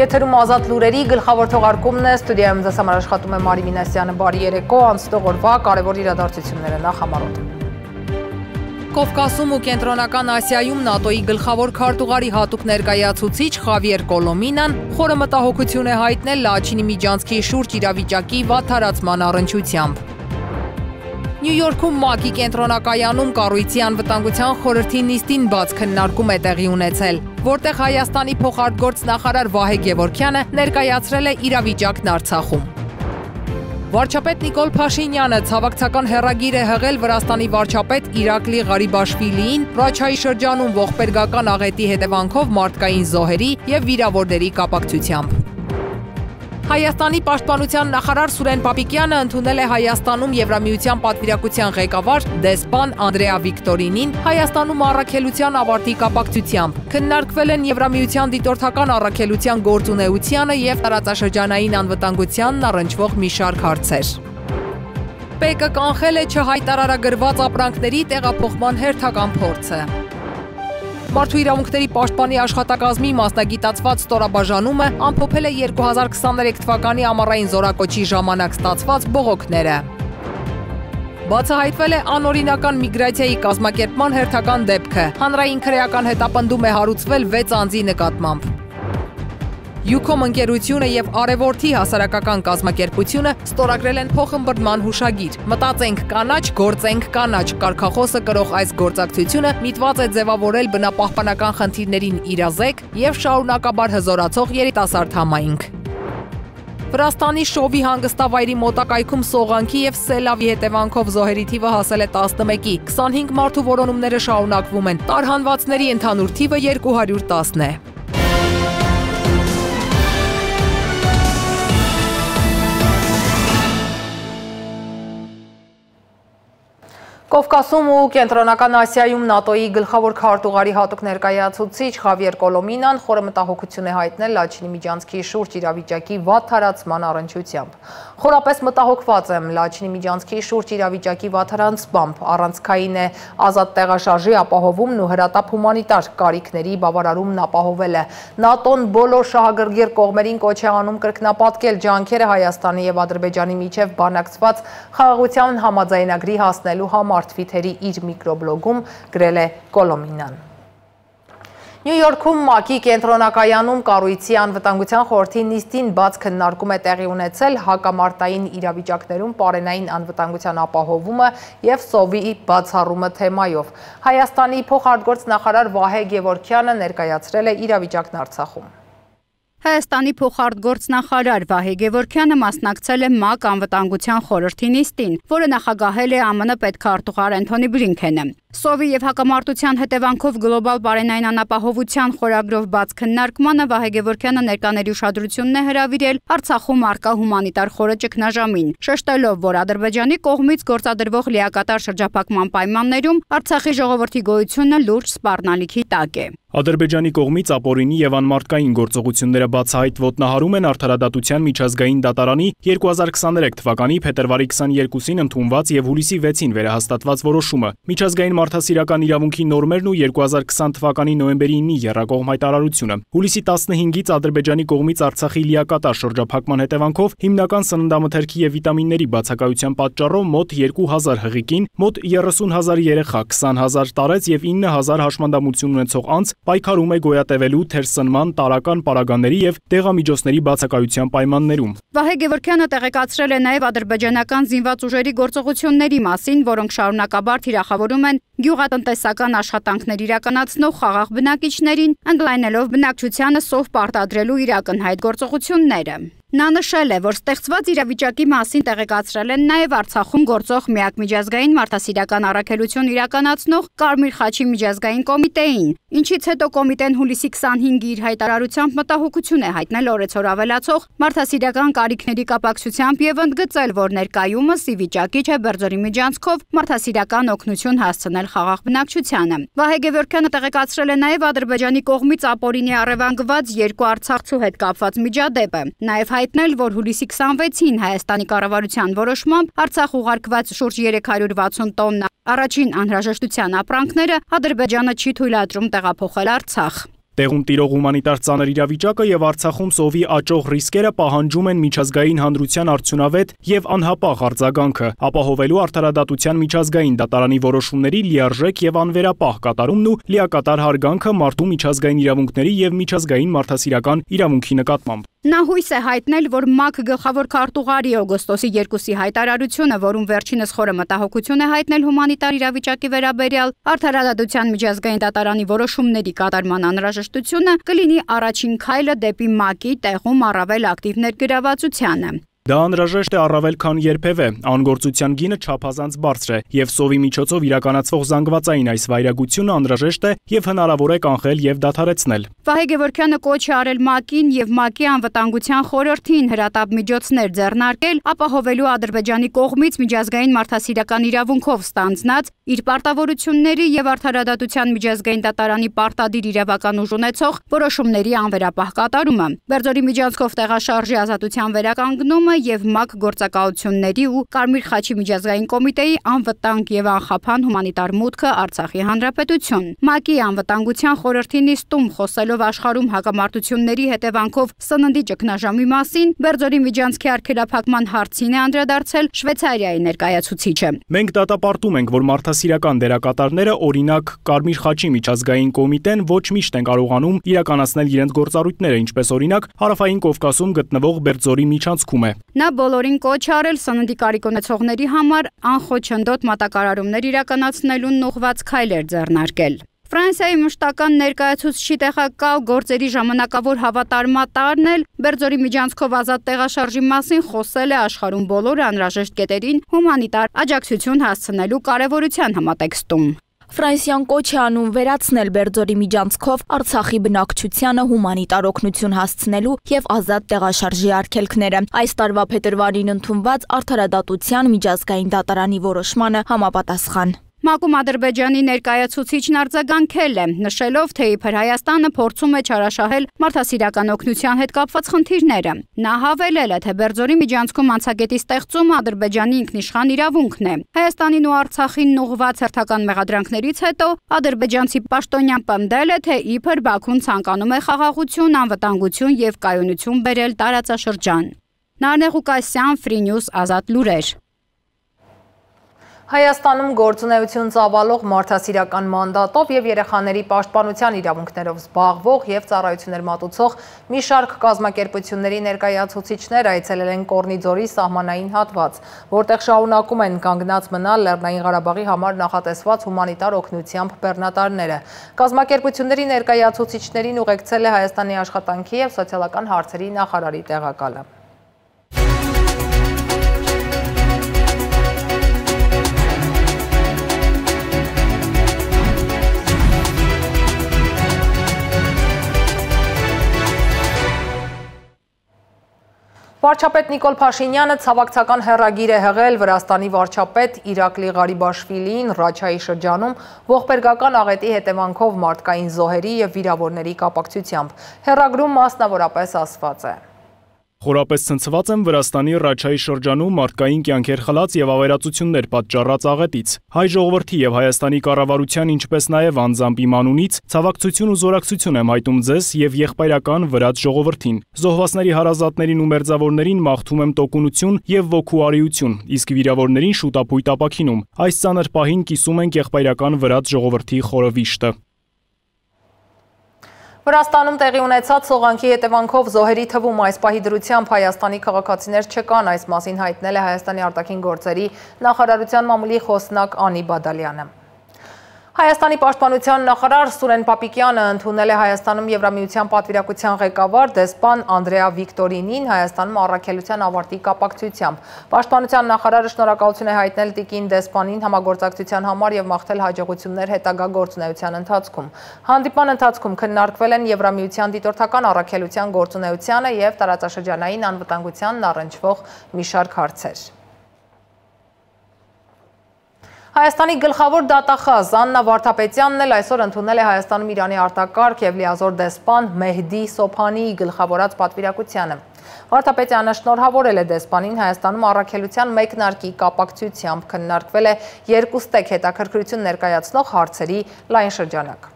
Եթերում ազատ լուրերի գլխավոր թողարկումն է, ստուդիայում ձեզ համար աշխատում է Մարի Մինասյանը, բարի երեկո, անցնող օրվա կարևոր իրադարձությունները նախ համարոտ։ Կովկասում ու Կենտրոնական Ասիայում ՆԱՏՕ-ի գլխավոր քարտուղարի հատուկ ներկայացուցիչ Խավիեր Կոլոմինան խորը մտահոգություն է հայտնել Լաչինի միջանցքի շուրջ իրավիճակի վատթարացման առնչությամբ։ Նյու Յորքում ՄԱԿ-ի կենտրոնակայանում կառույցի անվտանգության խորհրդի նիստին բաց քննարկում է տեղի ունեցել, որտեղ Հայաստանի փոխարտգործ նախարար Վահե Գևորգյանը ներկայացրել է իրավիճակն Արցախում։ Վարչապետ Նիկոլ Փաշինյանը ցավակցական հեռագիր է հղել Վրաստանի վարչապետ Իրակլի Ղարիբաշվիլիին Ռաչայի շրջանում ողբերգական աղետի հետևանքով մարդկային զոհերի եւ վիրավորների կապակցությամբ։ Հայաստանի պաշտպանության նախարար Սուրեն Պապիկյանը ընդունել է Հայաստանում Եվրամիության պատվիրակության ղեկավար դեսպան Անդրեա Վիկտորինին Հայաստանում առաքելության ավարտի կապակցությամբ։ Քննարկվել են Եվրամիության դիտորդական առաքելության գործունեությանը եւ տարածաշրջանային անվտանգությանն առնչվող մի շարք հարցեր։ ՊԵԿ-ը կանխել է չհայտարարագրված ապրանքների տեղափոխման հերթական փորձը։ Մարդու իրավունքների պաշտպանի աշխատակազմի մասնագիտացված ստորաբաժանումը ամփոփել է 2023 թվականի ամառային զորակոչի ժամանակ ստացված բողոքները։ Բացահայտվել է անօրինական միգրացիայի կազմակերպման հերթական դեպքը։ Հանրային քրեական հետապնդում է հարուցվել 6 անձի նկատմամբ։ Յուքոմ ընկերությունը եւ Արևորթի հասարակական կազմակերպությունը ստորագրել են փոխըմբռնման հուշագիր։ Մտածենք կանաչ, գործենք կանաչ կարգախոսը կրող այս գործակցությունը միտված է ձևավորել բնապահպանական խնդիրներին իրազեկ եւ շարունակաբար հզորացող երիտասարդ համայնք։ Վրաստանի Շովի հանգստավայրի մոտակայքում սողանքի եւ սելավի հետևանքով զոհերի թիվը հասել է 11-ի։ 25 մարդու որոնումները շարունակվում են։ Տարհանվածների ընդհանուր թիվը 210 է։ Կովկասում ու Կենտրոնական Ասիայում ՆԱՏՕ-ի գլխավոր քարտուղարի հատուկ ներկայացուցիչ Խավիեր Կոլոմինան խորը մտահոգություն է հայտնել Լաչինի միջանցքի շուրջ իրավիճակի վատթարացման առնչությամբ։ Խորապես մտահոգված եմ Լաչինի միջանցքի շուրջ իրավիճակի վատթարանցմամբ, առանցքային է ազատ տեղաշարժի ապահովումն ու հրատապ հումանիտար կարիքների բավարարումն ապահովելը։ ՆԱՏՕ-ն բոլոր շահագրգիռ կողմերին կոչ է անում կրկնապատկել ջանքերը Հայաստանի եւ Ադրբեջանի միջև բանակցված խաղաղության համաձայնագրի հասնելու համար Թվիթերի իր միկրոբլոգում գրել է Կոլոմինան։ Նյու Յորքում ՄԱԿ-ի կենտրոնակայանում կառույցի անվտանգության խորհրդի նիստին բաց քննարկում է տեղի ունեցել հակամարտային իրավիճակներում պարենային անվտանգության ապահովումը եւ սովի բացառումը թեմայով։ Հայաստանի փոխարտգործ նախարար Վահե Գևորգյանը ներկայացրել է իրավիճակն Արցախում։ Հայաստանի փոխարտգործ նախարար Վահե Գևորգյանը մասնակցել է ՄԱԿ անվտանգության խորհրդի նիստին, որը նախագահել է ԱՄՆ պետքարտուղար Անթոնի Բլինքենը։ Սովի եւ հակամարտության հետևանքով գլոբալ պարենային անապահովության խորագրով բաց քննարկմանը Վահե Գևորգյանը ներկաների ուշադրությունն է հրավիրել Արցախում առկա հումանիտար խորը ճգնաժամին, շեշտելով, որ Ադրբեջանի կողմից գործադրվող լիակատար շրջափակման պայմաններում Արցախի ժողովրդի գոյությունը լուրջ սպառնալիքի տակ է։ Ադրբեջանի կողմից ապօրինի եւ անմարդկային գործողությունները բացահայտ ոտնահարում են Արդարադատության միջազգային դատարանի 2023 թվականի փետրվարի 22-ին ընդունված եւ հուլիսի 6-ին վերահաստատված որոշումը։ Միջազգային մարդասիրական իրավունքի նորմերն ու 2020 թվականի նոյեմբերի 9-ի եռակողմ հայտարարությունը։ Հուլիսի 15-ից Ադրբեջանի կողմից Արցախի լիակատար շրջափակման հետևանքով հիմնական սննդամթերքի եւ վիտամինների բացակայության պատճառով մոտ 2000 հղիկին, մոտ 30,000 երեխա, 20,000 տարեց եւ 9,000 հաշմանդամություն ունեցող անձ պայքարում է գոյատևելու թերսնման, տարական պարագաների եւ դեղամիջոցների բացակայության պայմաններում։ Վահե Գևորգյանը տեղեկացրել է նաեւ ադրբեջանական զինված ուժերի գործողությունների մասին, որոնք շարունակաբար թիրախավորում են գյուղատնտեսական աշխատանքներ իրականացնող խաղաղ բնակիչներին, ընդլայնելով բնակչությանը սով պարտադրելու իր ակնհայտ գործողությունները։ Նա նշել է, որ ստեղծված իրավիճակի մասին տեղեկացրել են նաև Արցախում գործող միակ միջազգային մարդասիրական առաքելություն իրականացնող Կարմիր խաչի միջազգային կոմիտեին, ինչից հետո կոմիտեն հուլիսի 25-ի իր հայտարարությամբ մտահոգություն է հայտնել օրեցօր ավելացող մարդասիրական կարիքների կապակցությամբ եւ ընդգծել, որ ներկայումս ի վիճակի չէ Բերձորի միջանցքով մարդասիրական օգնություն հասցնել խաղաղ բնակչությանը։ Վահե Գևորգյանը տեղեկացրել է նաև Ադրբեջանի կողմից ապօրինի առևանգված երկու արցախցու հետ կապված միջադեպը, նաև հայտնել, որ հուլիսի 26-ին Հայաստանի կառավարության որոշմամբ Արցախ ուղարկված շուրջ 360 տոննա առաջին անհրաժեշտության ապրանքները Ադրբեջանը չի թույլատրում տեղափոխել Արցախ։ Տեղում տիրող հումանիտար ծանր իրավիճակը եւ Արցախում սովի աճող ռիսկերը պահանջում են միջազգային հանրության արդյունավետ եւ անհապաղ արձագանքը, ապահովելու արդարադատության միջազգային դատարանի որոշումների լիարժեք եւ անվերապահ կատարումն ու լիակատար հարգանքը մարդու միջազգային իրավունքների եւ միջազգային մարդասիրական իրավունքի նկատմամբ։ Նա հույս է հայտնել, որ ՄԱԿ գլխավոր քարտուղարի օգոստոսի 2-ի հայտարարությունը, որում վերջինս խորը մտահոգություն է հայտնել հումանիտար իրավիճակի վերաբերյալ, արդարադատության միջազգային դատարանի որոշումների կատարման անհրաժեշտությունը կլինի առաջին քայլը դեպի ՄԱԿ-ի տեղում առավել ակտիվ ներգրավվածությանը։ Դա անհրաժեշտ է առավել քան երբևէ, անգործության գինը չափազանց բարձր է, եւ սովի միջոցով իրականացվող զանգվածային այս վայրագությունը անհրաժեշտ է եւ հնարավոր է կանխել եւ դադարեցնել։ Վահե Գևորգյանը կոչ է արել ՄԱԿ-ին եւ ՄԱԿ-ի անվտանգության խորհրդին հրատապ միջոցներ ձեռնարկել, ապահովելու Ադրբեջանի կողմից միջազգային մարդասիրական իրավունքով ստանձնած իր պարտավորությունների եւ արդարադատության միջազգային դատարանի պարտադիր իրավական ուժ ունեցող որոշումների անվերապահ կատարումը։ Բերձորի միջանցքով տեղաշարժի ազատության վերականգնումը եւ ՄԱԿ գործակալությունների ու Կարմիր խաչի միջազգային կոմիտեի անվտանգ եւ անխափան հումանիտար մուտքը Արցախի հանրապետություն։ ՄԱԿ-ի անվտանգության խորհրդի նիստում խոսելով աշխարհում հակամարտությունների հետևանքով սննդի ճգնաժամի մասին, Բերձորի միջանցքի արգելափակման հարցին է անդրադարձել Շվեյցարիայի ներկայացուցիչը։ Մենք դատապարտում ենք, որ մարդասիրական դերակատարները, օրինակ Կարմիր խաչի միջազգային կոմիտեն, ոչ միշտ են կարողանում իրականացնել իրենց գործառույթները, ինչպես օրինակ Հարավային Կովկասում գտնվող Բերձորի միջանցքում է։ Նա բոլորին կոչ արել սննդի կարիք ունեցողների համար անխոչնդոտ մատակարարումներ իրականացնելուն ուղղված քայլեր ձեռնարկել։ Ֆրանսիայի մշտական ներկայացուցչի տեղակալ գործերի ժամանակավոր հավատարմատարն էլ Բերձորի միջանցքով ազատ տեղաշարժի մասին խոսել է աշխարհում բոլոր անհրաժեշտ կետերին հումանիտար աջակցություն հասցնելու կարևորության համատեքստում։ Ֆրանսիան կոչ է անում վերացնել Բերձորի միջանցքով Արցախի բնակչությանը հումանիտար օգնություն հասցնելու եւ ազատ տեղաշարժի արգելքները։ Այս տարվա փետրվարին ընդունված արդարադատության միջազգային դատարանի որոշմանը համապատասխան։ ՄԱԿ-ում Ադրբեջանի ներկայացուցիչն արձագանքել է, նշելով, թե իբր Հայաստանը փորձում է չարաշահել մարդասիրական օգնության հետ կապված խնդիրները։ Նա հավելել է, թե Բերձորի միջանցքում անցագետի ստեղծումը Ադրբեջանի ինքնիշխան իրավունքն է։ Հայաստանին ու Արցախին ուղղված հերթական մեղադրանքներից հետո ադրբեջանցի պաշտոնյան պնդել է, թե իբր Բաքուն ցանկանում է խաղաղություն, անվտանգություն եւ կայունություն բերել տարածաշրջան։ Նարնե Ղուկասյան, Free News, Ազատ լուրեր։ Հայաստանում գործունեություն ծավալող մարդասիրական մանդատով եւ երեխաների պաշտպանության իրավունքներով զբաղվող եւ ծառայություններ մատուցող մի շարք կազմակերպությունների ներկայացուցիչներ այցելել են Կորնիձորի սահմանային հատված, որտեղ շարունակում են կանգնած մնալ Լեռնային Ղարաբաղի համար նախատեսված հումանիտար օգնությամբ բեռնատարները։ Կազմակերպությունների ներկայացուցիչներին ուղեկցել է Հայաստանի աշխատանքի եւ սոցիալական հարցերի նախարարի տեղակալը։ Վարչապետ Նիկոլ Փաշինյանը ցավակցական հեռագիր է հղել Վրաստանի վարչապետ Իրակլի Ղարիբաշվիլիին Ռաչայի շրջանում ողբերգական աղետի հետևանքով մարդկային զոհերի եւ վիրավորների կապակցությամբ։ Հեռագրում մասնավորապես ասված է. Խորապես ցնցված եմ Վրաստանի Ռաչայի շրջանում մարդկային կյանքեր խլած եւ ավերածություններ պատճառած աղետից։ Հայ ժողովրդի եւ Հայաստանի կառավարության, ինչպես նաեւ անձամբ իմ անունից ցավակցություն ու զորակցություն եմ հայտում ձեզ եւ եղբայրական վրաց ժողովրդին։ Զոհվածների հարազատներին ու մերձավորներին մաղթում եմ տոկունություն եւ ոգու արիություն, իսկ վիրավորներին շուտապույտ ապաքինում։ Այս ծանր պահին կիսում ենք եղբայրական վրաց ժողովրդի խորը վիշտը։ Վրաստանում տեղի ունեցած սողանքի հետևանքով զոհերի թվում այս պահի դրությամբ Հայաստանի քաղաքացիներ չկան, այս մասին հայտնել է Հայաստանի արտաքին գործերի նախարարության մամուլի խոսնակ Անի Բադալյանը։ Հայաստանի պաշտպանության նախարար Սուրեն Պապիկյանը ընդունել է Հայաստանում Եվրամիության պատվիրակության ղեկավար դեսպան Անդրեա Վիկտորինին Հայաստանում առաքելության ավարտի կապակցությամբ։ Պաշտպանության նախարարը շնորհակալություն է հայտնել տիկին դեսպանին համագործակցության համար եւ մաղթել հաջողություններ հետագա գործունեության ընթացքում։ Հանդիպման ընթացքում քննարկվել են Եվրամիության դիտորդական առաքելության գործունեությանը եւ տարածաշրջանային անվտանգությանն առնչվող մի շարք հարցեր։ Հայաստանի գլխավոր դատախազ Աննա Վարդապետյանն էլ այսօր ընդունել է Հայաստանում Իրանի արտակարգ եւ լիազոր դեսպան Մեհդի Սոփանիի գլխավորած պատվիրակությանը։ Վարդապետյանը շնորհավորել է դեսպանին Հայաստանում առաքելության մեկնարկի կապակցությամբ, քննարկվել է երկուստեք հետաքրքրություն ներկայացնող հարցերի լայն շրջանակ։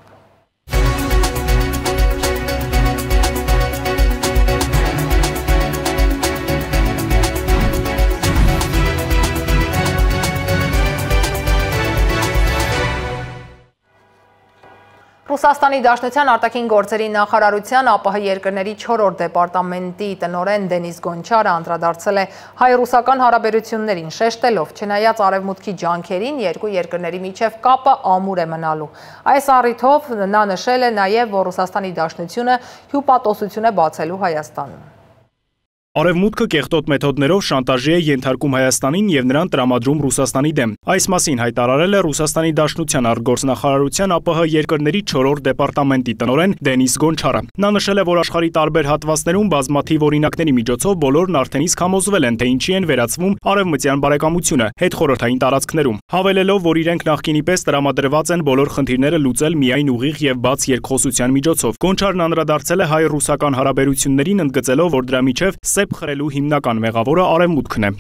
Ռուսաստանի Դաշնության արտաքին գործերի նախարարության ԱՊՀ երկրների 4-րդ դեպարտամենտի տնօրեն Դենիս Գոնչարը անդրադարձել է հայ-ռուսական հարաբերություններին, շեշտելով, չնայած արևմուտքի ջանքերին, երկու երկրների միջև կապը ամուր է մնալու։ Այս առիթով նա նշել է նաև, որ Ռուսաստանի Դաշնությունը հյուպատոսություն է բացելու Հայաստանում։ Արևմուտքը կեղտոտ մեթոդներով շանտաժի է ենթարկում Հայաստանին եւ նրան տրամադրում Ռուսաստանի դեմ։ Այս մասին հայտարարել է Ռուսաստանի Դաշնության արտգործնախարարության ԱՊՀ երկրների 4-րդ դեպարտամենտի տնօրեն Դենիս Գոնչարը։ Նա նշել է, որ աշխարհի տարբեր հատվածներում բազմաթիվ օրինակների միջոցով բոլորն արդեն իսկ համոզվել են, թե ինչի են վերածվում արևմտյան բարեկամությունը հետխորհրդային տարածքներում, հավելելով, որ իրենք նախկինի պես տրամադրված են բոլոր խնդիրները լուծել միայն ուղիղ եւ բաց երկխոսության միջոցով։ Գոնչարն անդրադարձել է հայ-ռուսական հարաբերություններին, ընդգծելով, որ դրա միջև խրելու հիմնական մեղավորը արևմուտքն է։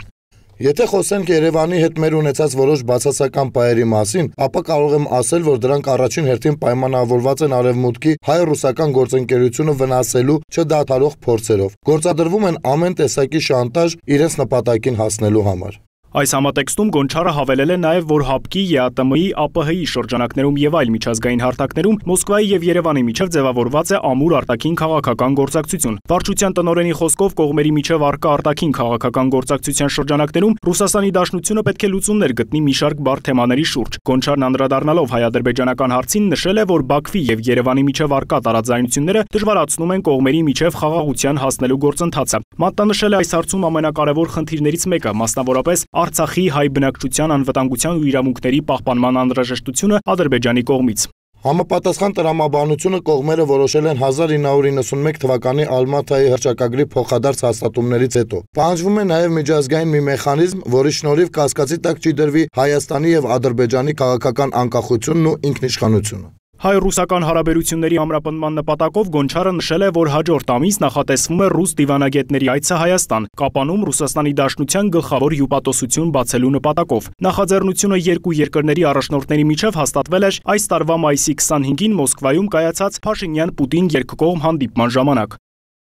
Եթե խոսենք Երևանի հետ մեր ունեցած որոշ բացասական պայերի մասին, ապա կարող եմ ասել, որ դրանք առաջին հերթին պայմանավորված են արևմուտքի հայ-ռուսական գործընկերությունը վնասելու չդադարող փորձերով։ Գործադրվում են ամեն տեսակի շանտաժ իրենց նպատակին հասնելու համար։ Այս համատեքստում Գոնչարը հավելել է նաև, որ ՀԱՊԿ-ի, ԵԱՏՄ-ի, ԱՊՀ-ի շրջանակներում եւ այլ միջազգային հարթակներում Մոսկվայի եւ Երևանի միջև ձևավորված է ամուր արտաքին քաղաքական գործակցություն։ Վարչության տնօրենի խոսքով կողմերի միջև առկա արտաքին քաղաքական գործակցության շրջանակներում Ռուսաստանի Դաշնությունը պետք է լուծումներ գտնի մի շարք բարդ թեմաների շուրջ։ Գոնչարն անդրադառնալով հայ-ադրբեջանական հարցին նշել է, որ Բաքվի եւ Երևանի միջև առկա տարաձայնությունները դժվարացնում են կողմերի միջև խաղաղության հասնելու գործընթացը։ Մատնանշել է այս հարցում ամենակարևոր խնդիրներից մեկը, մասնավորապես Արցախի հայ բնակչության անվտանգության ու իրավունքների պահպանման անհրաժեշտությունը Ադրբեջանի կողմից։ Համապատասխան տրամաբանությունը կողմերը որոշել են 1991 թվականի Ալմաթայի հռչակագրի փոխադարձ հաստատումներից հետո։ Պահանջվում է նաև միջազգային մի մեխանիզմ, որի շնորհիվ կասկածի տակ չի դրվի Հայաստանի եւ Ադրբեջանի քաղաքական անկախությունն ու ինքնիշխանությունը։ Հայ-ռուսական հարաբերությունների ամրապնդման նպատակով Գոնչարը նշել է, որ հաջորդ ամիս նախատեսվում է ռուս դիվանագետների այցը Հայաստան, Կապանում Ռուսաստանի Դաշնության գլխավոր հյուպատոսություն բացելու նպատակով։ Նախաձեռնությունը երկու երկրների առաջնորդների միջև հաստատվել էր այս տարվա մայիսի 25-ին Մոսկվայում կայացած Փաշինյան-Պուտին երկկողմ հանդիպման ժամանակ։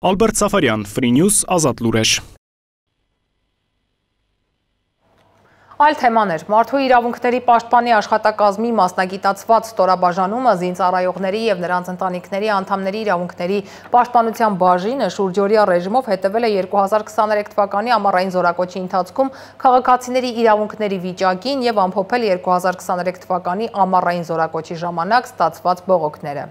Ալբերտ Սաֆարյան, Free News, Ազատ լուրեր։ Այլ թեմաներ, մարդու իրավունքների պաշտպանի աշխատակազմի մասնագիտացված ստորաբաժանումը զինծառայողների եւ նրանց ընտանիքների անդամների իրավունքների պաշտպանության բաժինը շուրջօրյա ռեժիմով հետևել է 2023 թվականի ամառային զորակոչի ընթացքում քաղաքացիների իրավունքների վիճակին եւ ամփոփել 2023 թվականի ամառային զորակոչի ժամանակ ստացված բողոքները։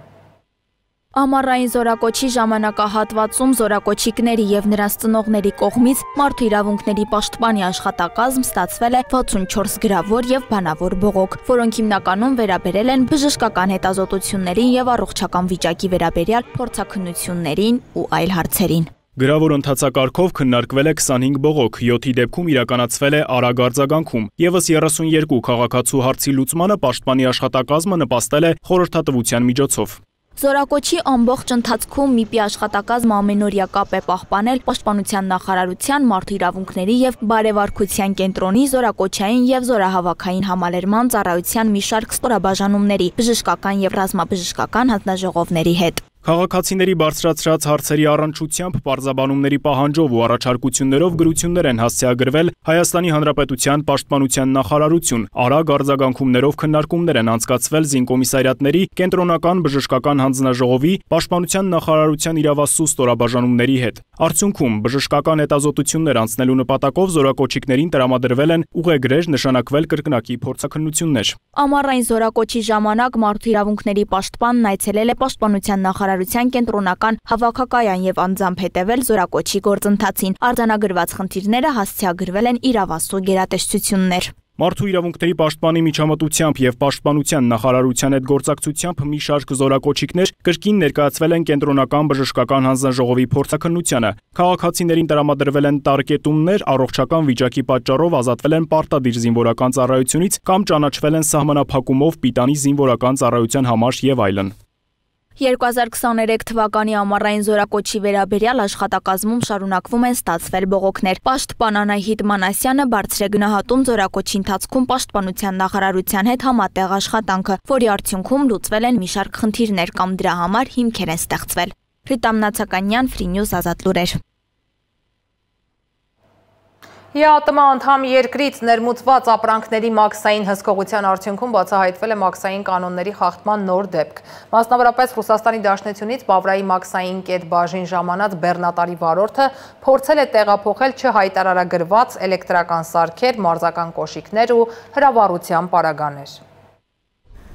Ամառային զորակոչի ժամանակահատվածում զորակոչիկների եւ նրանց ծնողների կողմից մարդու իրավունքների պաշտպանի աշխատակազմ ստացվել է 64 գրավոր եւ բանավոր բողոք, որոնք հիմնականում վերաբերել են բժշկական հետազոտություններին եւ առողջական վիճակի վերաբերյալ փորձաքննություններին ու այլ հարցերին։ Գրավոր ընթացակարգով քննարկվել է 25 բողոք, 7-ի դեպքում իրականացվել է արագ արձագանքում։ Եվս 32 քաղաքացու հարցի լուծմանը պաշտպանի աշխատակազմը նպաստել է խորհրդատվության միջոցով։ Զորակոչի ամբողջ ընթացքում ՄԻՊ-ի աշխատակազմը ամենօրյա կապ է պահպանել Պաշտպանության նախարարության, մարդու իրավունքների եւ բարեվարքության կենտրոնի, զորակոչային եւ զորահավաքային համալրման ծառայության մի շարք ստորաբաժանումների, բժշկական եւ ռազմաբժշկական հանձնաժողովների հետ։ Քաղաքացիների բարձրացրած հարցերի առնչությամբ պարզաբանումների պահանջով ու առաջարկություններով գրություններ են հասցեագրվել Հայաստանի Հանրապետության Պաշտպանության նախարարություն, արագ արձագանքումներով քննարկումներ են անցկացվել զինկոմիսարիատների, կենտրոնական բժշկական հանձնաժողովի, Պաշտպանության նախարարության իրավասու ստորաբաժանումների հետ։ Արդյունքում բժշկական հետազոտություններ անցնելու նպատակով զորակոչիկներին տրամադրվել են ուղեգրեր, նշանակվել կրկնակի փորձաքննություններ։ Ամառային զորակոչի ժամանակ մարդու իրավունքների պաշտպանն այցելել է Պաշտպանության նախարարության կենտրոնական հավաքակայան եւ անձամբ հետևել զորակոչի գործընթացին։ Արձանագրված խնդիրները հասցեագրվել են իրավասու գերատեսչություններ։ Մարդու իրավունքների պաշտպանի միջամտությամբ եւ Պաշտպանության նախարարության հետ գործակցությամբ մի շարք զորակոչիկներ կրկին ներկայացվել են կենտրոնական բժշկական հանձնաժողովի փորձաքննությանը։ Քաղաքացիներին տրամադրվել են տարկետումներ, առողջական վիճակի պատճառով ազատվել են պարտադիր զինվորական ծառայությունից կամ ճանաչվել են սահմանափակումով պիտանի զինվորական ծառայության համար եւ այլն։ 2023 թվականի ամառային զորակոչի վերաբերյալ աշխատակազմում շարունակվում են ստացվել բողոքներ։ Պաշտպան Անահիտ Մանասյանը բարձր է գնահատում զորակոչի ընթացքում Պաշտպանության նախարարության հետ համատեղ աշխատանքը, որի արդյունքում լուծվել են մի շարք խնդիրներ կամ դրա համար հիմքեր են ստեղծվել։ Ռիտամ Նացականյան, Free News, Ազատ լուրեր։ ԵԱՏՄ անդամ երկրից ներմուծված ապրանքների մաքսային հսկողության արդյունքում բացահայտվել է մաքսային կանոնների խախտման նոր դեպք։ Մասնավորապես Ռուսաստանի Դաշնությունից Բավրայի մաքսային կետ բաժին ժամանած բեռնատարի վարորդը փորձել է տեղափոխել չհայտարարագրված էլեկտրական սարքեր, մարզական կոշիկներ ու հրավառության պարագաներ։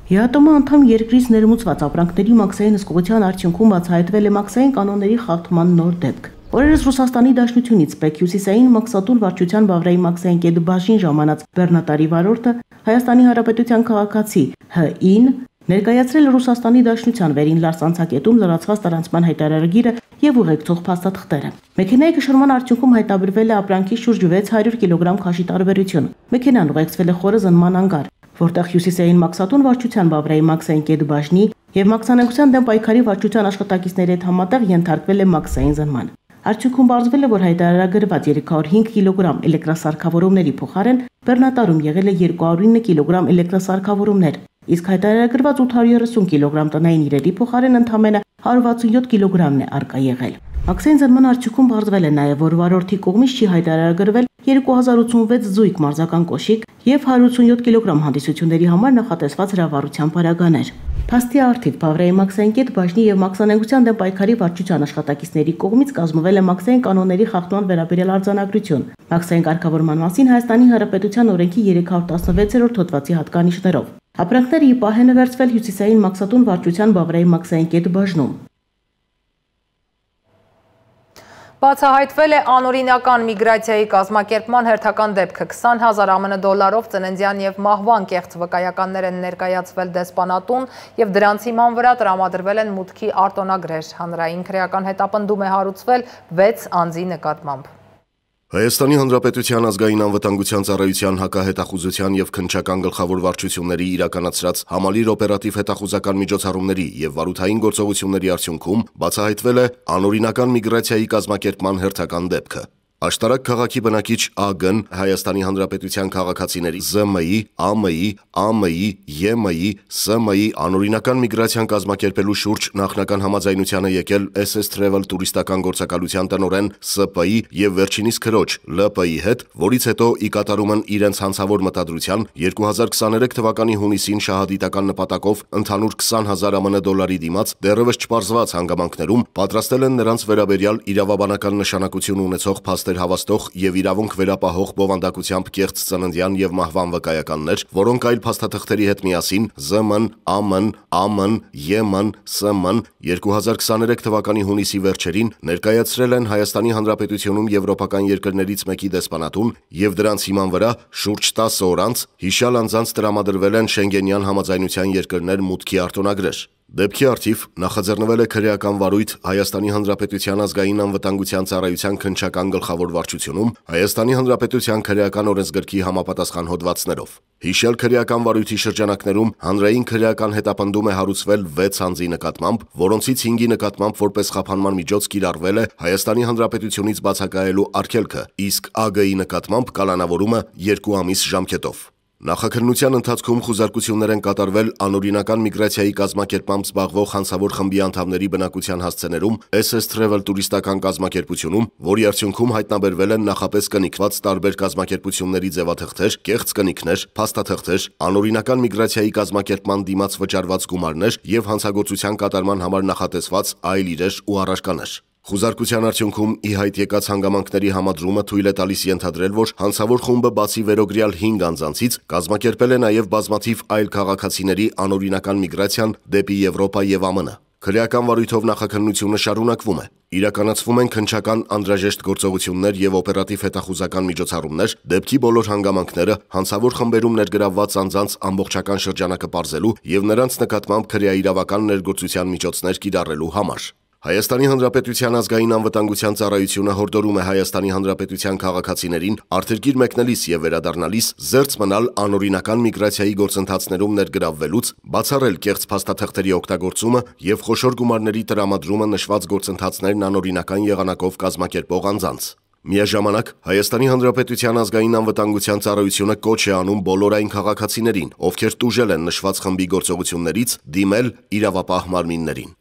ԵԱՏՄ անդամ երկրից ներմուծված ապրանքների մաքսային հսկողության արդյունքում բացահայտվել է մաքսային կանոնների խախտման նոր դեպք։ Օրերս Ռուսաստանի Դաշնությունից Պեկ հյուսիսային մաքսատուն վարչության Բավրայի մաքսային կետ բաժին ժամանած բեռնատարի վարորդը Հայաստանի Հանրապետության քաղաքացի Հ.ին ներկայացրել Ռուսաստանի Դաշնության վերին լարսանցակետում լրացված տարանցման հայտարարագիրը եւ ուղեկցող փաստաթղթերը։ Մեքենայի կշռման արդյունքում հայտնաբերվել է ապրանքի շուրջ 600 կիլոգրամ քաշի տարբերություն։ Մեքենան ուղեկցվել է խորը զննման անգար, որտեղ հյուսիսային մաքսատուն վարչության Բավրայի մաքսային կետ բաժնի եւ մաքսանեկության դեմ պայքարի վարչության աշխատակիցների հետ համատեղ ենթարկվել է մաքսային զննման։ Արդյունքում պարզվել է, որ հայտարարագրված 305 կիլոգրամ էլեկտրասարքավորումների փոխարեն բեռնատարում եղել է 209 կիլոգրամ էլեկտրասարքավորումներ, իսկ հայտարարագրված 830 կիլոգրամ տնային իրերի փոխարեն ընդամենը 167 կիլոգրամն է արկա եղել։ Մաքսային զննման արդյունքում պարզվել է նաև, որ վարորդի կողմից չի հայտարարագրվել 2086 զույգ մարզական կոշիկ եւ 187 կիլոգրամ հանդիսությունների համար նախատեսված հրավառության պարագաներ։ Փաստի արդիվ Բավրայի մաքսային կետ բաժնի եւ մաքսանեկության դեմ պայքարի վարչության աշխատակիցների կողմից կազմվել է մաքսային կանոնների խախտման վերաբերյալ արձանագրություն։ Մաքսային կարգավորման մասին Հայաստանի Հանրապետության օրենքի 316-րդ հոդվածի հատկանիշներով։ Ապրանքները ի պահ են վերցվել հյուսիսային մաքսատուն վարչության Բավրայի մաքսային կետ բաժնում։ Բացահայտվել է անօրինական միգրացիայի կազմակերպման հերթական դեպքը 20,000 ԱՄՆ դոլարով ծննդյան եւ մահվան կեղծ վկայականներ են ներկայացվել դեսպանատուն եւ դրանց հիման վրա տրամադրվել են մուտքի արտոնագրեր։ Հանրային քրեական հետապնդում է հարուցվել 6 անձի նկատմամբ։ Հայաստանի Հանրապետության ազգային անվտանգության ծառայության հակահետախուզության եւ քննչական գլխավոր վարչությունների իրականացրած համալիր օպերատիվ հետախուզական միջոցառումների եւ վարութային գործողությունների արդյունքում բացահայտվել է անօրինական միգրացիայի կազմակերպման հերթական դեպքը։ Աշտարակ քաղաքի բնակիչ ԱԳ-ն Հայաստանի Հանրապետության քաղաքացիների ԶՄԻ, ԱՄԻ, ԱՄԻ, ԵՄԻ, ՍՄԻ անօրինական միգրացիան կազմակերպելու շուրջ նախնական համաձայնությանը եկել SS Travel տուրիստական գործակալության տնօրեն ՍՊ-ի եւ վերջինիս քրոջ ԼՊ-ի հետ, որից հետո ի կատարում են իրենց հանցավոր մտադրության 2023 թվականի հունիսին շահադիտական նպատակով ընդհանուր 20,000 ԱՄՆ դոլարի դիմաց դեռևս չպարզված հանգամանքներում պատրաստել են նրանց վերաբերյալ իրավաբանական նշանակություն ունեցող հավաստող եւ իրավունք վերապահող բովանդակությամբ կեղծ ծննդյան եւ մահվան վկայականներ, որոնք այլ փաստաթղթերի հետ միասին ԶՄ-ն, ԱՄ-ն, ԱՄ-ն, ԵՄ-ն, ՍՄ-ն 2023 թվականի հունիսի վերջերին ներկայացրել են Հայաստանի Հանրապետությունում եվրոպական երկրներից մեկի դեսպանատուն եւ դրանց հիման վրա շուրջ 10 օր անց հիշյալ անձանց տրամադրվել են Շենգենյան համաձայնության երկրներ մուտքի արտոնագրեր։ Դեպքի արդիվ նախաձեռնվել է քրեական վարույթ Հայաստանի Հանրապետության ազգային անվտանգության ծառայության քննչական գլխավոր վարչությունում Հայաստանի Հանրապետության քրեական օրենսգրքի համապատասխան հոդվածներով։ Հիշյալ քրեական վարույթի շրջանակներում հանրային քրեական հետապնդում է հարուցվել 6 անձի նկատմամբ, որոնցից 5-ի նկատմամբ որպես խափանման միջոց կիրառվել է Հայաստանի Հանրապետությունից բացակայելու արգելքը, իսկ ԱԳ-ի նկատմամբ կալանավորումը 2 ամիս ժամկետով։ Նախաքննության ընթացքում խուզարկություններ են կատարվել անօրինական միգրացիայի կազմակերպմամբ զբաղվող հանցավոր խմբի անդամների բնակության հասցեներում SS Travel տուրիստական կազմակերպությունում, որի արդյունքում հայտնաբերվել են նախապես կնիկված տարբեր կազմակերպությունների ձևաթղթեր, կեղծ կնիկներ, փաստաթղթեր, անօրինական միգրացիայի կազմակերպման դիմաց վճարված գումարներ եւ հանցագործության կատարման համար նախատեսված այլ իրեր ու առարկաներ։ Խուզարկության արդյունքում ի հայտ եկած հանգամանքների համադրումը թույլ է տալիս ենթադրել, որ հանցավոր խումբը բացի վերոգրյալ 5 անձանցից կազմակերպել է նաև բազմաթիվ այլ քաղաքացիների անօրինական միգրացիան դեպի Եվրոպա եւ ԱՄՆ։ Քրեական վարույթով նախաքննությունը շարունակվում է։ Իրականացվում են քննչական անհրաժեշտ գործողություններ եւ օպերատիվ հետախուզական միջոցառումներ դեպքի բոլոր հանգամանքները հանցավոր խմբերում ներգրավված անձանց ամբողջական շրջանակը պարզելու եւ նրանց նկատմամբ քրեաիրավական ներգործության միջոցներ կիրառելու համար։ Հայաստանի Հանրապետության ազգային անվտանգության ծառայությունը հորդորում է Հայաստանի Հանրապետության քաղաքացիներին արտերկիր մեկնելիս եւ վերադառնալիս զերծ մնալ անօրինական միգրացիայի գործընթացներում ներգրավվելուց, բացառել կեղծ փաստաթղթերի օգտագործումը եւ խոշոր գումարների տրամադրումը նշված գործընթացներն անօրինական եղանակով կազմակերպող անձանց։ Միաժամանակ Հայաստանի Հանրապետության ազգային անվտանգության ծառայությունը կոչ է անում բոլոր այն քաղաքացիներին, ովքեր տուժել են նշված խմբի գործողություններից, դիմել իրավապահ մարմիններին։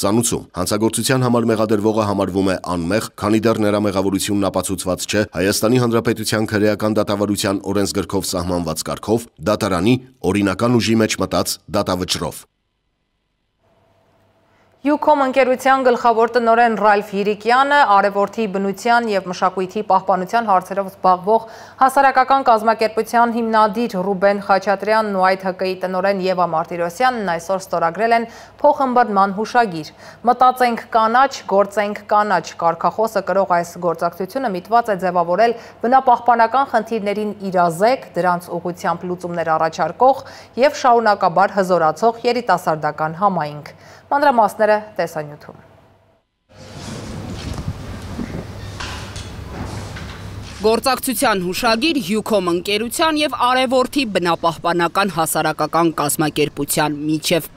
Ծանուցում հանցագործության համար մեղադրվողը համարվում է անմեղ, քանի դեռ նրա մեղավորությունն ապացուցված չէ Հայաստանի Հանրապետության քրեական դատավարության օրենսգրքով սահմանված կարգով, դատարանի օրինական ուժի մեջ մտած դատավճռով։ Յուքոմ ընկերության գլխավոր տնօրեն Ռալֆ Յիրիկյանը արևորդի բնության և մշակույթի պահպանության հարցերով զբաղվող հասարակական կազմակերպության հիմնադիր Ռուբեն Խաչատրյանն ու այդ ՀԿ-ի տնօրեն Եվա Մարտիրոսյանն այսօր ստորագրել են փոխըմբռնման հուշագիր։ Մտածենք կանաչ, գործենք կանաչ կարգախոսը կրող այս գործակցությունը միտված է ձևավորել բնապահպանական խնդիրներին իրազեկ, դրանց ուղղությամբ լուծումներ առաջարկող և շարունակաբար հզորացող երիտասարդական համայնք։ Մանրամասները տեսանյութում։ Գործակցության հուշագիր Յուքոմ ընկերության և արևորդի բնապահպանական հասարակական կազմակերպության միջև։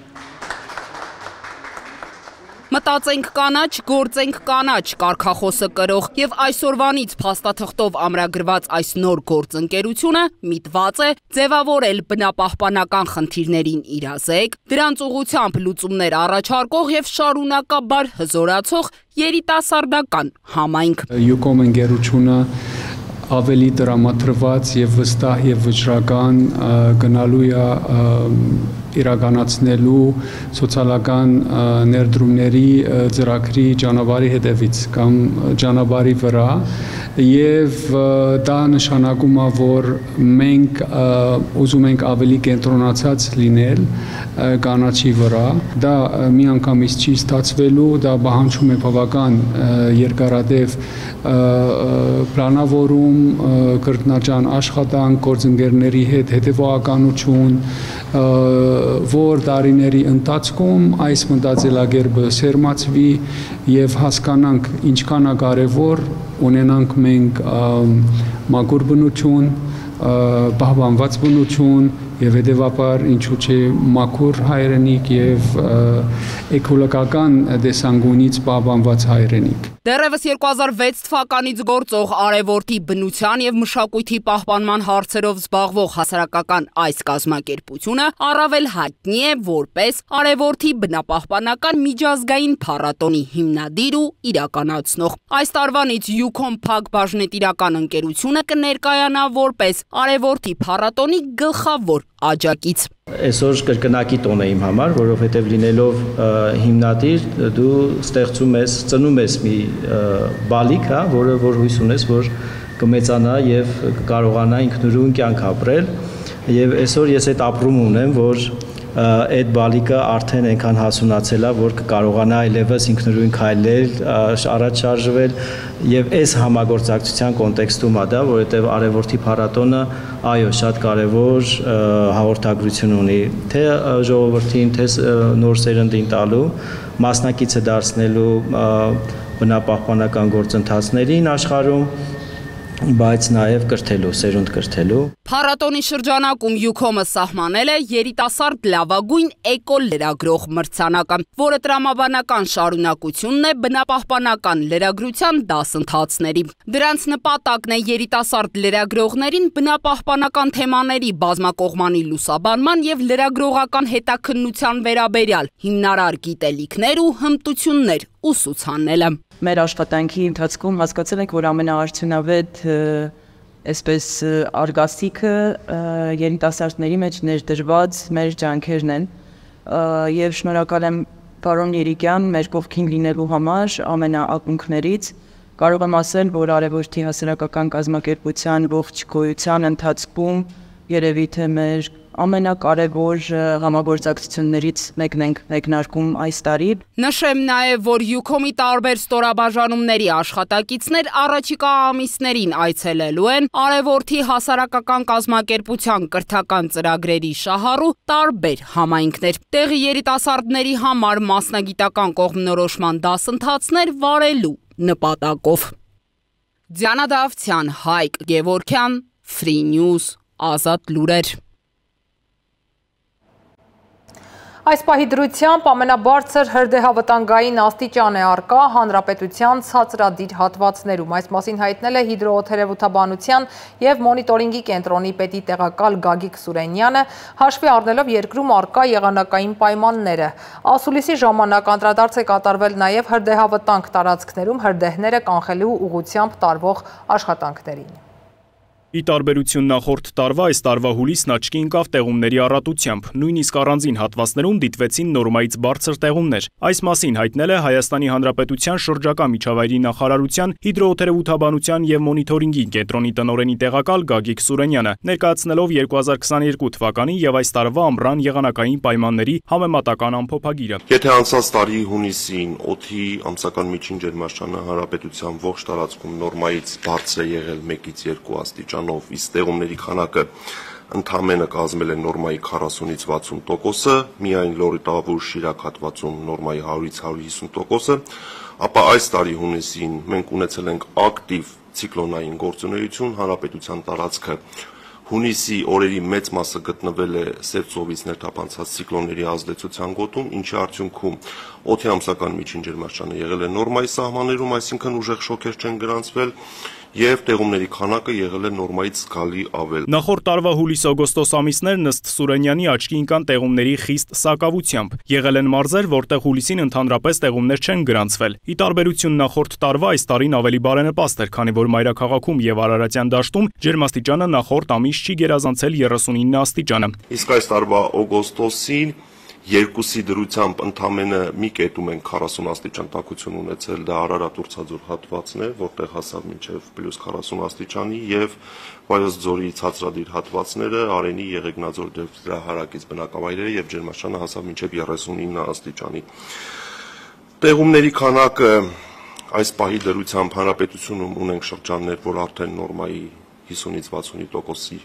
Մտածենք կանաչ, գործենք կանաչ կարգախոսը կրող և այսօրվանից փաստաթղթով ամրագրված այս նոր գործընկերությունը միտված է ձևավորել բնապահպանական խնդիրներին իրազեկ, դրանց ուղղությամբ լուծումներ առաջարկող և շարունակաբար հզորացող երիտասարդական համայնք։ Յուքոմ ընկերությունը ավելի տրամադրված և վստահ և վճռական գնալու է իրականացնելու սոցիալական ներդրումների ծրագրի ճանապարհի հետևից կամ ճանապարհի վրա եւ դա նշանակում է որ մենք ուզում ենք ավելի կենտրոնացած լինել կանաչի վրա դա միանգամից չի ստացվելու դա պահանջում է բավական երկարատև պլանավորում կրկնաճան աշխատանք գործընկերների հետ հետևողականություն որ տարիների ընթացքում այս մտածելակերպը սերմացվի եւ հասկանանք ինչքան է կարեւոր ունենանք մենք մաքուր բնություն պահպանված բնություն եւ հետեւաբար ինչու՞ չէ մաքուր հայրենիք եւ էկոլոգիական դեսանգունից պահպանված հայրենիք։ Դեռևս 2006 թվականից գործող արևորդի բնության եւ մշակույթի պահպանման հարցերով զբաղվող հասարակական այս կազմակերպությունը առավել հայտնի է որպես արևորդի բնապահպանական միջազգային փառատոնի հիմնադիր ու իրականացնող։ Այս տարվանից Յուքոմ Փակ բաժնետիրական ընկերությունը կներկայանա որպես արևորդի փառատոնի գլխավոր աջակից։ Այսօր կրկնակի տոն է իմ համար, որովհետև լինելով հիմնադիր դու ստեղծում ես, ծնում ես մի բալիկ, որը որ հույս ունես, որ կմեծանա եւ կարողանա ինքնուրույն կյանք ապրել եւ այսօր ես այդ ապրում ունեմ, որ այդ բալիկը արդեն այնքան հասունացել է, որ կկարողանա այլևս ինքնուրույն քայլել, առաջ շարժվել եւ այս համագործակցության կոնտեքստում է դա, որովհետեւ արևորդի փառատոնը այո, շատ կարեւոր հաղորդագրություն ունի, թե ժողովրդին, թե նոր սերնդին տալու, մասնակիցը դարձնելու բնապահպանական գործընթացներին աշխարհում բայց նաև կրթելու, սերունդ կրթելու։ Փառատոնի շրջանակում Յուքոմը սահմանել է երիտասարդ լավագույն էկո լրագրող մրցանակը, որը տրամաբանական շարունակությունն է բնապահպանական լրագրության դասընթացների։ Դրանց նպատակն է երիտասարդ լրագրողներին բնապահպանական թեմաների բազմակողմանի լուսաբանման եւ լրագրողական հետաքննության վերաբերյալ հիմնարար գիտելիքներ ու հմտություններ ուսուցանելը։ Մեր աշխատանքի ընթացքում հասկացել ենք, որ ամենաարդյունավետ այսպես արգասիքը երիտասարդների մեջ ներդրված մեր ջանքերն են եւ շնորհակալ եմ պարոն Յիրիկյան մեր կողքին լինելու համար ամենաակունքներից կարող եմ ասել, որ արևորդի հասարակական կազմակերպության ողջ գոյության ընթացքում երևի թե մեր ամենակարևոր համագործակցություններից մեկն ենք մեկնարկում այս տարի։ Նշեմ նաև, որ Յուքոմի տարբեր ստորաբաժանումների աշխատակիցներ առաջիկա ամիսներին այցելելու են արևորդի հասարակական կազմակերպության կրթական ծրագրերի շահառու տարբեր համայնքներ։ Տեղի երիտասարդների համար մասնագիտական կողմնորոշման դասընթացներ վարելու նպատակով։ Դիանա Դավթյան, Հայկ Գևորգյան, Free News, Ազատ լուրեր։ Այս պահի դրությամբ ամենաբարձր հրդեհավտանգային աստիճան է առկա հանրապետության ցածրադիր հատվածներում։ Այս մասին հայտնել է հիդրոթերապևտաբանության եւ մոնիտորինգի կենտրոնի պետի տեղակալ Գագիկ Սուրենյանը, հաշվի առնելով երկրում առկա եղանակային պայմանները։ Ասուլիսի ժամանակ անդրադարձ է կատարվել նաեւ հրդեհավտանգ տարածքներում հրդեհները կանխելու ուղղությամբ տարվող աշխատանքներին։ Ի տարբերություն նախորդ տարվա, այս տարվա հուլիսն աչքի ընկավ տեղումների առատությամբ, նույնիսկ առանձին հատվածներում դիտվեցին նորմայից բարձր տեղումներ։ Այս մասին հայտնել է Հայաստանի Հանրապետության շրջակա միջավայրի նախարարության հիդրոթերապևտաբանության եւ մոնիտորինգի կենտրոնի տնօրենի տեղակալ Գագիկ Սուրենյանը, ներկայացնելով 2022 թվականի եւ այս տարվա ամռան եղանակային պայմանների համեմատական ամփոփագիրը։ Եթե անցած տարի հունիսին օդի ամսական միջին ջերմաստիճանը հանրապետության ողջ տարածքում նորմայից բարձր է եղել 1-ից 2 աստիճան, իսկ տեղումների քանակը ընդամենը կազմել է նորմայի 40-ից 60%, միայն Լոռի Տավուր Շիրակ հատվածում նորմայի 100-ից 150%, ապա այս տարի հունիսին մենք ունեցել ենք ակտիվ ցիկլոնային գործունեություն, հանրապետության տարածքը հունիսի օրերի մեծ մասը գտնվել է Սև ծովից ներթափանցած ցիկլոնների ազդեցության գոտում, ինչի արդյունքում օդի ամսական միջին ջերմաստիճանը եղել է նորմայի սահմաններում, այսինքն ուժեղ շոկեր չեն գրանցվել, եւ տեղումների քանակը եղել է նորմայից զգալի ավել։ Նախորդ տարվա հուլիս-օգոստոս ամիսներն ըստ Սուրենյանի աչքի ընկան տեղումների խիստ սակավությամբ։ Եղել են մարզեր, որտեղ հուլիսին ընդհանրապես տեղումներ չեն գրանցվել։ Ի տարբերություն նախորդ տարվա, այս տարին ավելի բարենպաստ էր, քանի որ մայրաքաղաքում եւ Արարատյան դաշտում ջերմաստիճանը նախորդ ամիս չի գերազանցել 39 աստիճանը։ Իսկ այս տարվա օգոստոսին երկուսի դրությամբ ընդամենը մի կետում են 40 աստիճան տաքություն ունեցել, դա Արարատ-Ուրցաձոր հատվածն է, որտեղ հասավ մինչև +40 աստիճանի, եւ Վայոց ձորի ցածրադիր հատվածները, Արենի, Եղեգնաձոր դրա հարակից բնակավայրերը եւ ջերմաստիճանը հասավ մինչև 39 աստիճանի։ Տեղումների քանակը այս պահի դրությամբ հանրապետությունում ունենք շրջաններ, որ արդեն նորմայի 50-ից 60%-ի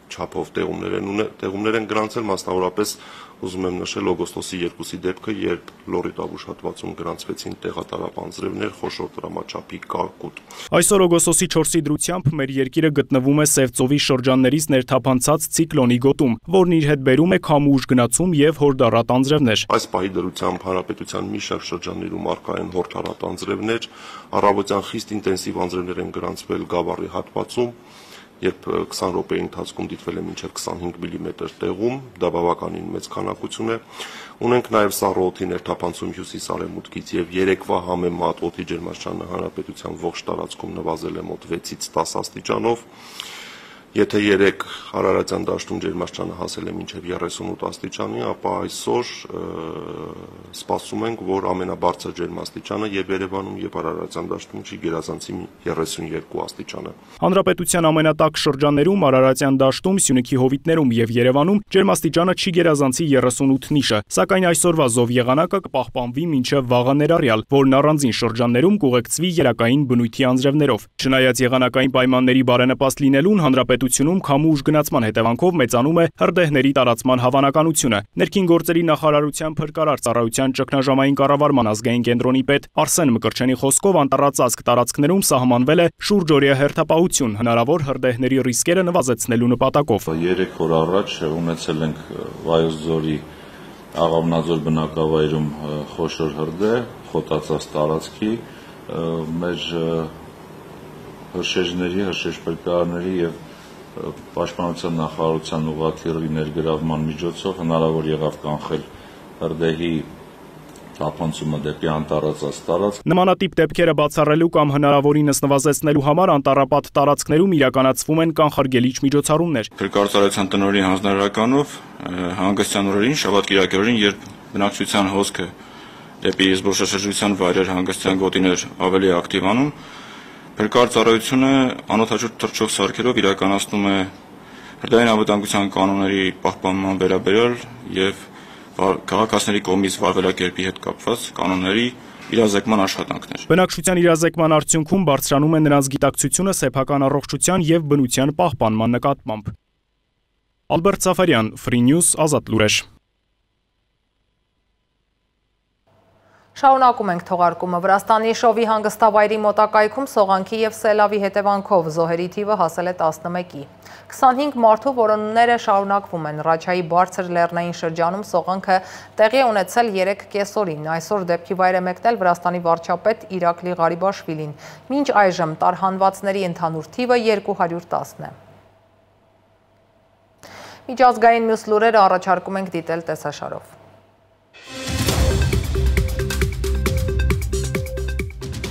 չափով տեղումներ են գրանցել, մասնավորապես ուզում եմ նշել օգոստոսի 2-ի դեպքը, երբ Լոռի Տավուշ հատվածում գրանցվեցին տեղատարապ անձրևներ, խոշոր դրամաչափի կարկուտ։ Այսօր օգոստոսի 4-ի դրությամբ մեր երկիրը գտնվում է Սև ծովի շրջաններից ներթափանցած ցիկլոնի գոտում, որն իր հետ բերում է քամուուժ գնացում եւ հորդառատ անձրևներ։ Այս պահի դրությամբ հանրապետության մի շարք շրջաններում առկա են հորդառատ անձրևներ, առավոտյան խիստ ինտենսիվ անձրևներ են գրանցվել Գավառի հատվածում, երբ 20 րոպեի ընթացքում դիտվել է մինչև 25 մմ տեղում, դա բավականին մեծ քանակություն է։ Ունենք նաև սառը օդի ներթափանցում հյուսիս-արևմուտքից եւ երեկվա համեմատ օդի ջերմաստիճանը հանրապետության ողջ տարածքում նվազել է մոտ 6-ից 10 աստիճանով։ Եթե երեք Արարատյան դաշտում ջերմաստիճանը հասել է մինչև 38 աստիճանի, ապա այսօր սպասում ենք, որ ամենաբարձր ջերմաստիճանը եւ Երևանում եւ Արարատյան դաշտում չի գերազանցի 32 աստիճանը։ Հանրապետության ամենատաք շրջաններում Արարատյան դաշտում, Սյունիքի հովիտներում եւ Երևանում ջերմաստիճանը չի գերազանցի 38 նիշը, սակայն այսօրվա զով եղանակը կպահպանվի մինչև վաղը ներառյալ, որն առանձին շրջաններում կուղեկցվի երակային բնույթի անձրևներով։ Չնայած եղանակային պայմանների բարենպաստ լինելուն, հանրապետությունում քամուուժ գնացման հետևանքով մեծանում է հրդեհների տարածման հավանականությունը։ Ներքին գործերի նախարարության փրկարար ծառայության ճգնաժամային կառավարման ազգային կենտրոնի պետ Արսեն Մկրտչյանի խոսքով անտառածածկ տարածքներում սահմանվել է շուրջօրյա հերթապահություն, հնարավոր հրդեհների ռիսկերը նվազեցնելու նպատակով։ 3 օր առաջ ունեցել ենք Վայոց ձորի Աղավնաձոր բնակավայրում խոշոր հրդեհ, խոտածած տարածքի, մեր հրշեջների, փրկարարների եւ Պաշտպանության նախարարության ուղղաթիռի ներգրավման միջոցով հնարավոր եղավ կանխել հրդեհի թափանցումը դեպի անտառածած տարածք։ Նմանատիպ դեպքերը բացառելու կամ հնարավորինս նվազեցնելու համար անտառապատ տարածքներում իրականացվում են կանխարգելիչ միջոցառումներ։ Փրկարարության տնօրենի հանձնարարականով հանգստյան օրերին, շաբաթ-կիրակի օրերին, երբ բնակչության հոսքը դեպի զբոսաշրջության վայրեր, հանգստյան գոտիներ ավելի ակտիվանում, Փրկարար ծառայությունը անօդաչու թռչող սարքերով իրականացնում է հրդեհային անվտանգության կանոնների պահպանման վերաբերյալ եւ քաղաքացիների կողմից վարվելակերպի հետ կապված կանոնների իրազեկման աշխատանքներ։ Բնակչության իրազեկման արդյունքում բարձրանում է նրանց գիտակցությունը սեփական առողջության եւ բնության պահպանման նկատմամբ։ Ալբերտ Սաֆարյան, Free News, Ազատ լուրեր։ Շարունակում ենք թողարկումը։ Վրաստանի Շովի հանգստավայրի մոտակայքում սողանքի և սելավի հետևանքով զոհերի թիվը հասել է 11-ի։ 25 մարդու որոնումները շարունակվում են։ Ռաչայի բարձր լեռնային շրջանում սողանքը տեղի է ունեցել 3 կեսօրին։ Այսօր դեպքի վայր է մեկնել Վրաստանի վարչապետ Իրակլի Ղարիբաշվիլին։ Մինչ այժմ տարհանվածների ընդհանուր թիվը 210 է։ Միջազգային մյուս լուրերը առաջարկում ենք դիտել տեսաշարով։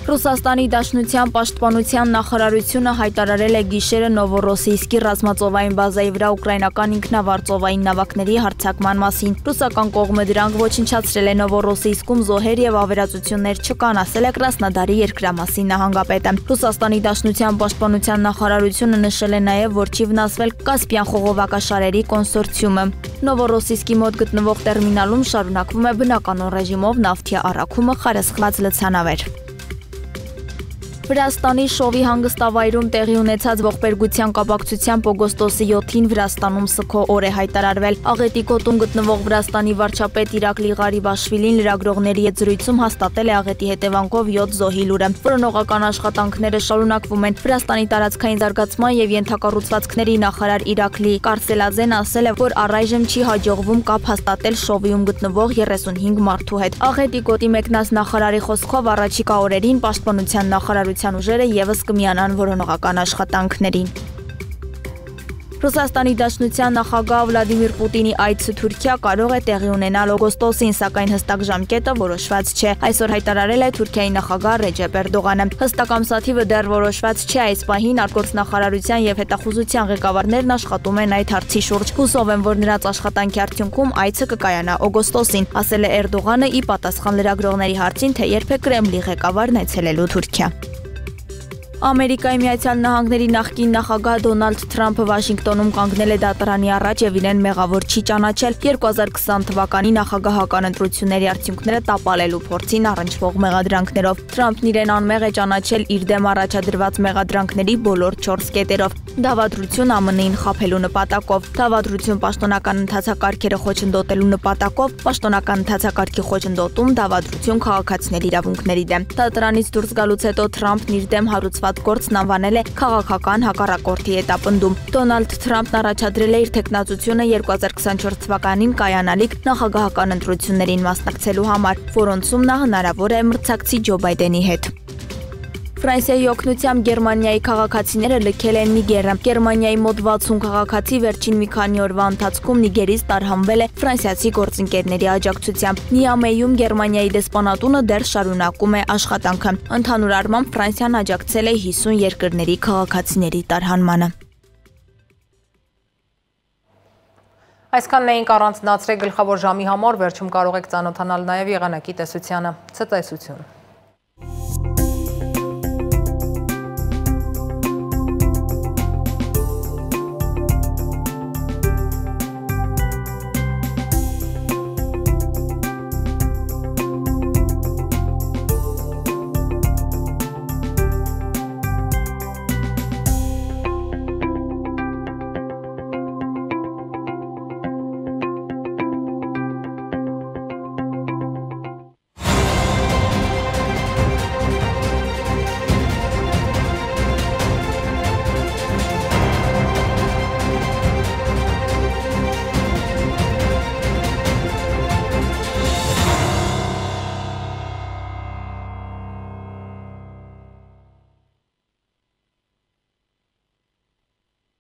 Ռուսաստանի Դաշնության պաշտպանության նախարարությունը հայտարարել է գիշերը Նովորոսիյսկի ռազմածովային բազայի վրա ուկրաինական ինքնավար նավակների հարձակման մասին։ Ռուսական կողմը դրանք ոչնչացրել է Նովորոսիյսկում զոհեր եւ ավերածություններ չկան, ասել է Կրասնոդարի երկրամասի նահանգապետը։ Ռուսաստանի Դաշնության պաշտպանության նախարարությունը նշել է նաեւ, որ չի վնասվել Կասպիան խողովակաշարերի կոնսորցիումը։ Նովորոսիյսկի մոտ գտնվող տերմինալում շարունակվում է բնականոն ռեժիմով նավթի առաքումը խարսխված լցանավեր։ Վրաստանի Շովի հանգստավայրում տեղի ունեցած ողբերգության կապակցությամբ օգոստոսի 7-ին Վրաստանում սգո օր է հայտարարվել։ Աղետի գոտում գտնվող Վրաստանի վարչապետ Իրակլի Ղարիբաշվիլին լրագրողների հետ զրույցում հաստատել է աղետի հետևանքով 7 զոհի լուրը։ Որոնողական աշխատանքները շարունակվում են։ Վրաստանի տարածքային զարգացման եւ ենթակառուցվածքների նախարար Իրակլի Կարսելաձեն ասել է, որ առայժմ չի հաջողվում կապ հաստատել Շովիում գտնվող 35 մարդու հետ։ Աղետի գոտի մեկնած նախարարի խոսքով առաջիկա օրերին պաշտպանության նախարարության ուժերը եւս կմիանան որոնողական աշխատանքներին։ Ռուսաստանի Դաշնության նախագահ Վլադիմիր Պուտինի այցը Թուրքիա կարող է տեղի ունենալ օգոստոսին, սակայն հստակ ժամկետը որոշված չէ։ Այսօր հայտարարել է Թուրքիայի նախագահ Ռեջեփ Էրդողանը։ Հստակ ամսաթիվը դեռ որոշված չէ, այս պահին արտգործնախարարության եւ հետախուզության ղեկավարներն աշխատում են այդ հարցի շուրջ։ Հուսով եմ, որ նրանց աշխատանքի արդյունքում այցը կկայանա օգոստոսին, ասել է Էրդողանը ի պատասխան լրագրողների հարցին, թե երբ է Կրեմլի ղեկավարն այցելելու Թուրքիա։ Ամերիկայի Միացյալ Նահանգների նախկին նախագահ Դոնալդ Թրամփը Վաշինգտոնում կանգնել է դատարանի առաջ եւ իրեն մեղավոր չի ճանաչել 2020 թվականի նախագահական ընտրությունների արդյունքները տապալելու փորձին առնչվող մեղադրանքներով։ Թրամփն իրեն անմեղ է ճանաչել իր դեմ առաջադրված մեղադրանքների բոլոր 4 կետերով։ Դավադրություն ԱՄՆ-ին խաբելու նպատակով, դավադրություն պաշտոնական ընթացակարգերը խոչընդոտելու նպատակով, պաշտոնական ընթացակարգի խոչընդոտում, դավադրություն քաղաքացիների իրավունքների դեմ։ Դատարանից դուրս գալուց հետո Թրամփն իր դեմ հարուցված գործն անվանել է քաղաքական հակառակորդի հետապնդում։ Դոնալդ Թրամփն առաջադրել է իր թեկնածությունը 2024 թվականին կայանալիք նախագահական ընտրություններին մասնակցելու համար, որոնցում նա հնարավոր է մրցակցի Ջո Բայդենի հետ։ Ֆրանսիայի օգնությամբ Գերմանիայի քաղաքացիները լքել են Նիգերը։ Գերմանիայի մոտ 60 քաղաքացի վերջին մի քանի օրվա ընթացքում Նիգերից տարհանվել է ֆրանսիացի գործընկերների աջակցությամբ։ Նիամեյում Գերմանիայի դեսպանատունը դեռ շարունակում է աշխատանքը։ Ընդհանուր առմամբ Ֆրանսիան աջակցել է 50 երկրների քաղաքացիների տարհանմանը։ Այսքանն էինք առանձնացրել գլխավոր ժամի համար, վերջում կարող եք ծանոթանալ նաև եղանակի տեսությանը։ Ցտեսություն։